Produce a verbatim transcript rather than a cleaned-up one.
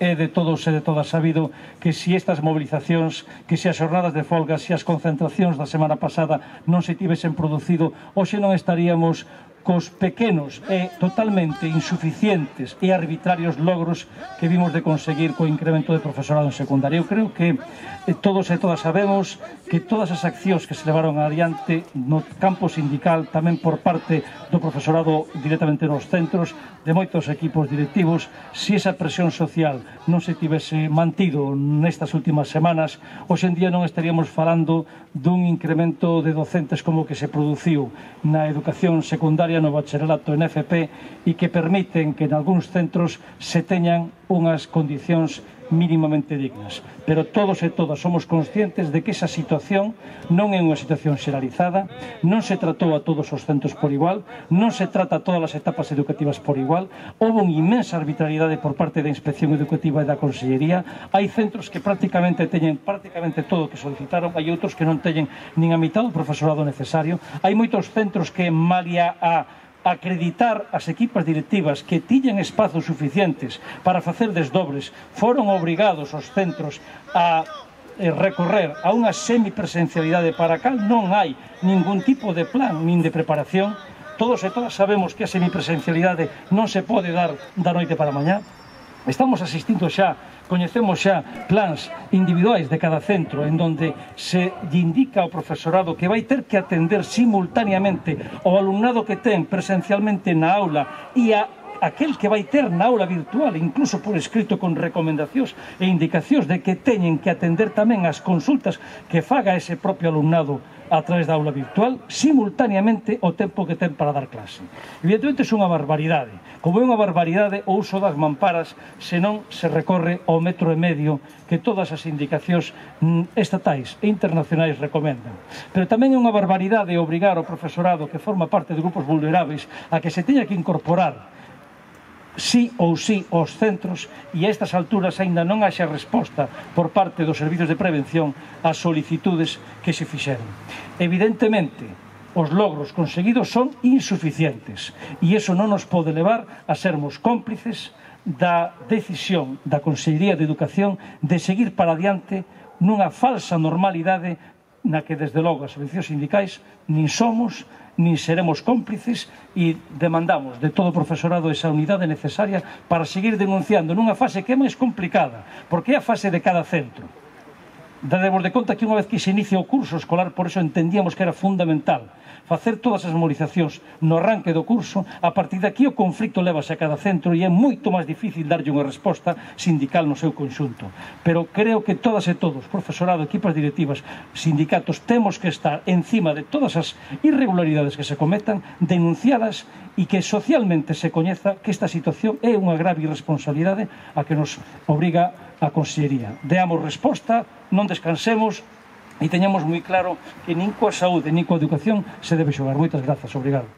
é de todos e de todas sabido que se estas movilizacións, que se as xornadas de folga, se as concentracións da semana pasada non se tivesen producido, hoxe non estaríamos cos pequenos e totalmente insuficientes e arbitrarios logros que vimos de conseguir co incremento de profesorado en secundaria. Eu creo que todos e todas sabemos que todas as accións que se levaron adiante no campo sindical, tamén por parte do profesorado directamente nos centros, de moitos equipos directivos, se esa presión social non se tivese mantido nestas últimas semanas, hoxe en día non estaríamos falando dun incremento de docentes como que se produciu na educación secundaria, no bacharelato en F P, e que permiten que en algúns centros se teñan unhas condicións mínimamente dignas. Pero todos e todas somos conscientes de que esa situación non é unha situación xeralizada, non se tratou a todos os centros por igual, non se trata a todas as etapas educativas por igual, houve unha inmensa arbitrariedade por parte da Inspección Educativa e da Consellería, hai centros que prácticamente teñen prácticamente todo o que solicitaron, hai outros que non teñen nin a mitad do profesorado necesario, hai moitos centros que malia a acreditar as equipas directivas que tiñan espazos suficientes para facer desdobres, foron obrigados os centros a recorrer a unha semipresencialidade para a cal non hai ningún tipo de plan nin de preparación. Todos e todas sabemos que a semipresencialidade non se pode dar da noite para a mañá. Estamos asistindo xa, coñecemos xa plans individuais de cada centro en donde se lle indica ao profesorado que vai ter que atender simultaneamente ao alumnado que ten presencialmente na aula e a aquel que vai ter na aula virtual, incluso por escrito con recomendacións e indicacións de que teñen que atender tamén as consultas que faga ese propio alumnado a través da aula virtual, simultaneamente o tempo que ten para dar clase. Evidentemente é unha barbaridade, como é unha barbaridade o uso das mamparas se non se recorre ao metro e medio que todas as indicacións estatais e internacionais recomendan. Pero tamén é unha barbaridade obrigar ao profesorado que forma parte de grupos vulneráveis a que se teña que incorporar sí ou sí aos centros e a estas alturas aínda non haxa resposta por parte dos servizos de prevención ás solicitudes que se fixeron. Evidentemente, os logros conseguidos son insuficientes e iso non nos pode levar a sermos cómplices da decisión da Consellería de Educación de seguir para adiante nunha falsa normalidade na que, desde logo, as organizacións sindicais nin somos nin seremos cómplices e demandamos de todo o profesorado esa unidade necesaria para seguir denunciando nunha fase que é máis complicada, porque é a fase de cada centro. Dademos de conta que unha vez que se inicia o curso escolar, por eso entendíamos que era fundamental facer todas as movilizacións no arranque do curso. A partir de aquí o conflicto levase a cada centro e é moito máis difícil darlle unha resposta sindical no seu conxunto. Pero creo que todas e todos, profesorado, equipas directivas, sindicatos, temos que estar encima de todas as irregularidades que se cometan, denunciadas e que socialmente se coñeza que esta situación é unha grave irresponsabilidade a que nos obriga a Consellería. Deamos resposta, non descansemos e teñamos moi claro que nin coa saúde nin coa educación se debe xogar. Moitas grazas, obrigado.